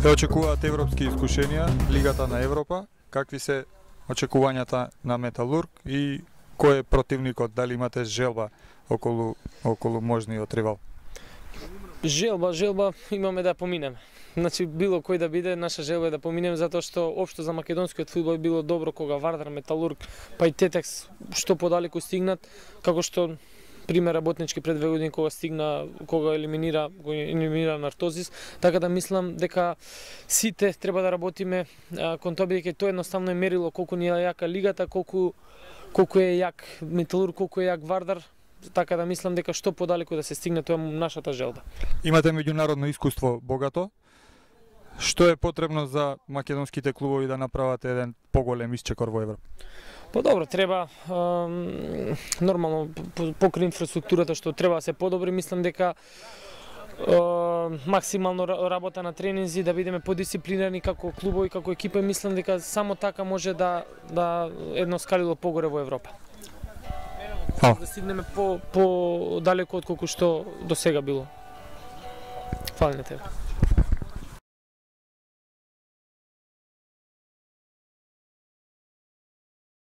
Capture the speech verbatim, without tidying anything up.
Те очекуваат европски искушенија, Лигата на Европа. Какви се очекувањата на Металург и кој е противникот? Дали имате желба околу околу можниот ривал? Желба, желба имаме да поминеме. Значи било кој да биде, наша желба е да поминеме затоа што општо за македонскиот фудбал било добро кога Вардар, Металург, па и Тетекс што подалеку стигнат, како што пример работнички пред две години кога стигна, кога елиминира, кога елиминира Нартозис, така да мислам дека сите треба да работиме а, кон тоа, бидејќи тоа едноставно е мерило колку ни е јака лигата, колку колку е јак Металург, колку е јак Вардар, така да мислам дека што подалеку да се стигне, тоа е нашата желба. Имате меѓународно искуство богато. Што е потребно за македонските клубови да направат еден поголем исчекор во Европа? Па добро, треба ем, нормално покрај инфраструктурата што треба да се подобри, мислам дека е, максимално работа на тренинзи, да бидеме подисциплинирани како клубови, како екипа, мислам дека само така може да да едно скалило погоре во Европа. А. Да стигнеме по по далеко од колку што до сега било. Фали на тебе.